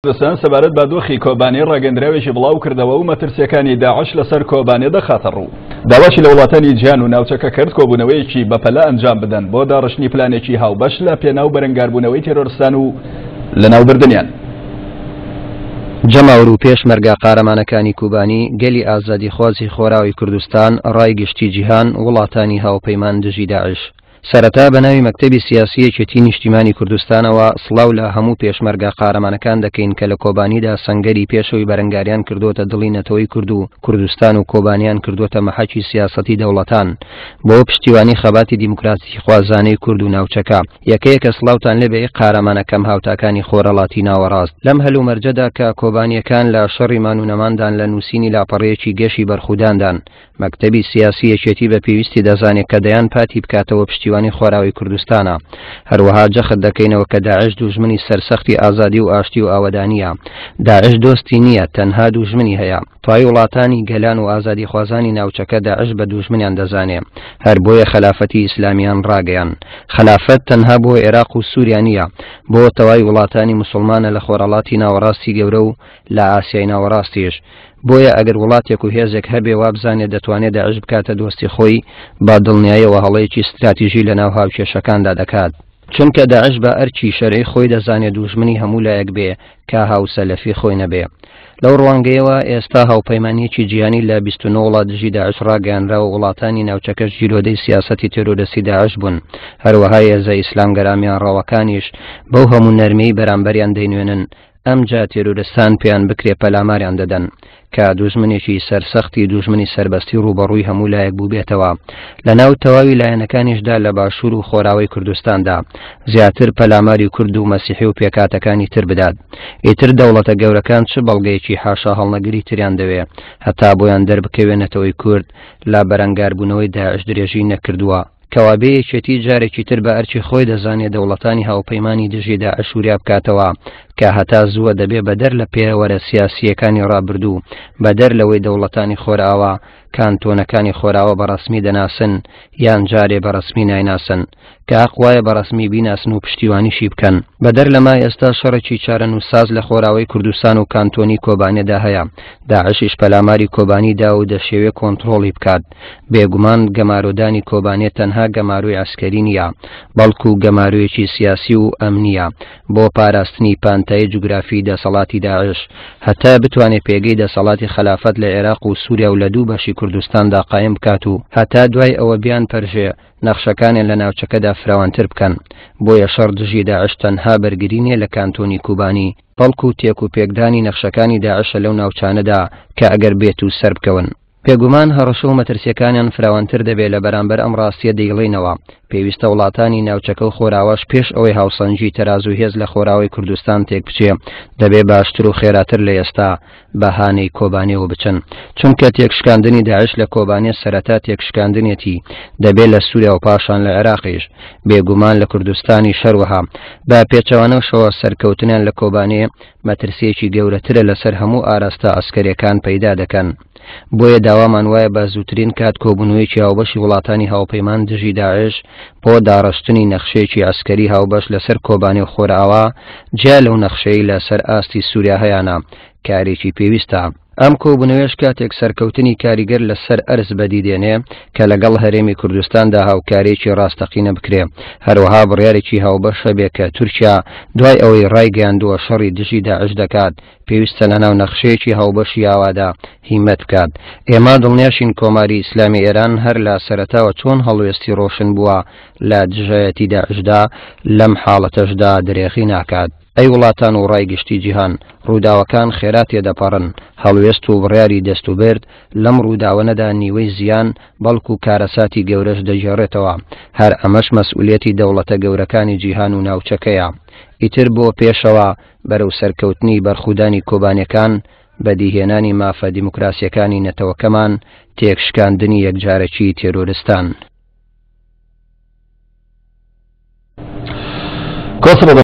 کوردستان سەبارەت بە دۆخی کۆبانێ ڕاگەندراوێکی بڵاو کردەوە و مەترسیەکانی داعش لەسەر کۆبانێ دەخاتە ڕوو. داواشی لە وڵاتانی جیهان و ناوچەکە کرد کۆبوونەوەیەکی بەپەلە ئەنجام بدەن بۆ داڕشتنی پلانێکی هاوبەش لە پێناو بەرەنگاربوونەوەی تێرۆرستان و لەناوبردنیان. جەماوەر و پێشمەرگە قارەمانەکانی کوبانی، گەلی ئازادیخوازی خۆراوی کوردستان، ڕای گشتی جیهان، وڵاتانی هاوپەیمان دژی داعش. سەرەتا بە ناوی مەکتەبی سیاسی یەکێتی نیشتیمانی کوردستانەوە سڵاو لە هەموو پێشمەرگە قارەمانەکان دەکەین کە لە کۆبانیدا سەنگەری پێشەوەی بەرەنگاریان کردۆتە دڵی نەتەوەی کورد و کوردستان و کۆبانیان کردۆتە مەحەکی سیاسەتی دەوڵەتان بۆ پشتیوانی خەباتی دیموکراسیخوازانەی کورد و ناوچەکە. یەکە یەکە سڵاوتان لێبێ ئەی قارەمانە کەم هاوتاکانی خۆرهەڵاتی ناوەڕاست. لەم هەلومەرجەدا کە کۆبانییەکان لە شەڕی مان و نەماندان لە نووسینی لاپەڕەیەکی گەشی بەرخوداندان، مەکتەبی سیاسی یەکێتی بە پێویستی دەزانێ کە دەیان پاتی بکاتەوە پشتیوانی خۆراوی کوردستانە. هەروەها جەخت دەکەینەوە کە داعش دووژمنی سەرسەختی ئازادی و ئاشتی و ئاوەدانییە. داعش دۆستی نییە، تەنها دووژمنی هەیە. تای وڵاتانی گەلان و ئازادیخوازانی ناوچەکە داعش بە دووژمنیان دەزانێ. هەر بۆیە خەلافەتی ئیسلامیان ڕاگەیان. خەلافەت تەنها بۆ ئێراق و سوریا نییە، بۆ تەوای وڵاتانی موسوڵمانە لە خۆرهەڵاتی ناوەڕاستی گەورە و لە ئاسیای ناوەڕاستیش. بۆیە ئەگەر وڵاتێک و هێزێک هەبێ وابزانێ دەتوانێ داعش بکاتە دۆستی خۆی، بە دڵنیایەوە هەڵەیەکی ستراتیژی لەناو هاوکێشەکاندا دەکات. چونکە داعش بە ئەرکی شەرعی خۆی دەزانێ دووژمنی هەموو لایەک بێ کە هاوسەلەفی خۆی نەبێ. لەو ڕوانگەیەوە ئێستا هاوپەیمانییەکی جیهانی لە 29 وڵات دژی داعش ڕاگەیانراوە وڵاتانی ناوچەکەش گیرۆدەی سیاسەتی تێرۆرستی داعش بوون. هەروەها هێزە ئیسلامگەرا میانڕەوەکانیش بەو هەموو نەرمیەی بەرامبەریان دەینوێنن ئەمجا تێرۆرستان پێیان بکرێ پەلاماریان دەدەن کە دوژمنێکی سەرسەختی دوژمنی سەربەستی ڕووبەڕووی هەموو لایەک بووبێتەوە لە ناو تەواوی لایەنەکانیشدا لە باشوور و خۆراوەی کوردستاندا زیاتر پەلاماری کورد و مەسیحی و پێکاتەکانی تر بدات ئیتر دەوڵەتە گەورەکان چ بەڵگەیەکی حاشا هەڵنەگری تریان دەوێ هەتا بۆیان دەربکەوێ نەتەوەی کورد لە بەرەنگاربوونەوەی داعش درێژی نەکردووە کەوابێ یەکێتی جارێکی تر بە ئەرکی خۆی دەزانێ دەوڵەتانی هاوپەیمانی دژی داعش وریا بکاتەوە کە هەتا زووە دەبێ بەدەر لە پێوەرە سیاسییەکانی ڕابردوو، بەدەر لەوەی دەوڵەتانی خۆرئاوا کانتۆنەکانی خۆراوا بە ڕەسمی دەناسن یان جارێ بە ڕەسمی نایناسن کە هەق وایە بە ڕەسمی بیناسن و پشتیوانیشی بکەن. بەدەر لەمە ئێستا شەڕێکی چارەنووسساز لە خۆراوەی کوردستان و کانتۆنی کۆبانێدا هەیە، داعشیش پەلاماری کۆبانی دا و دەشیەوێ کۆنتڕۆڵی بکات. بێگومان گەمارۆدانی کۆبانێ تەنها گەمارۆی عەسکەری نییە، بەڵکو گەمارۆیەکی سیاسی و ئەمنییە بۆ پاراستنی پانتایی جوگرافی دەسەڵاتی داعش، هەتا بتوانێ پێگەی دەسەڵاتی خەلافەت لە عێراق و سوریا و لە دوو بەشی کوردستاندا قایم بکات و هەتا دوای ئەوە بیانپەرژێ نەخشەکانیان لە ناوچەکەدا فراوانتر بکەن. بۆیە شەڕ دژی داعش تەنها بەرگری نییە لە کانتۆنی کوبانی، بەڵکو تێک و پێکدانی نەخشەکانی داعشە لەو ناوچانەدا کە ئەگەر بێتو سەربکەون. بێگومان هەڕەشە و مەترسیەکانیان فراوانتر دەبێ لە بەرامبەر ئەم ڕاستیە دەیڵێینەوە پێویستە وڵاتانی ناوچەکە و خۆراواش پێش ئەوەی هاوسەنگی تەرازوو هێز لە خۆراوای کوردستان تێک بچێ دەبێ باشتر و خێراتر لە ئێستا بە هانەی کۆبانێوە بچن چونکە تێکشکاندنی داعش لە کۆبانێ سەرەتا تێکشکاندنێتی دەبێ لە سووریا و پاشان لە عێراقیش بێگومان لە کوردستانی شەروەها بە پێچەوانەشەوە سەرکەوتنیان لە کۆبانێ مەترسیەکی گەورەترە لەسەر هەموو ئاراستە عەسکەریەکان پەیدا دەکەن. بۆیە داوامان وایە بە زووترین کات کۆبوونەوەیەکی هاوبەشی وڵاتانی هاوپەیمان دژی داعش بۆ داڕشتنی نەخشەیەکی عەسکەری هاوبەش لەسەر کۆبانێ و خۆرئاوا جیا لەو نەخشەی لەسەر ئاستی سووریا هەیانە کارێکی پێویستە. ئەم کۆبوونەوەیەش کاتێک سەرکەوتنی کاریگەر لەسەر ئەرز بەدی دێنێ کە لەگەڵ هەرێمی کوردستاندا هاوکارییەکی ڕاستەقینە بکرێ، هەروەها بڕیارێکی هاوبەش هەبێ کە تورکیا دوای ئەوەی ڕایگەیاندووە شەڕی دژی داعش دەکات، پێویستە لەناو نەخشەیەکی هاوبەشی ئاوادا هیمەت بکات. ئێمە دڵنیاشین کۆماری ئیسلامی ئێران هەر لە سەرەتاوە چۆن هەڵوێستی ڕۆشن بووە لە دژایەتی داعشدا، لەم حاڵەتەشدا درێغی ناکات. ئەی وڵاتان و ڕای گشتی جیهان، ڕووداوەکان خێرا تێدەپەڕن، هەڵوێست و بڕیاری دەستوبرد لەم ڕووداوەنەدا نیوەی زیان، بەڵکو کارەساتی گەورەش دەگێڕێتەوە، هەر ئەمەش مەسئولیەتی دەوڵەتە گەورەکانی جیهان و ناوچەکەیە. ئیتر بۆ پێشەوە بەرەو سەرکەوتنی بەرخودانی کۆبانێکان، بەدیهێنانی مافە دیموکراسیەکانی نەتەوەکەمان، تێکشکاندنی یەکجارەکی تێرۆرستان. کۆسرە.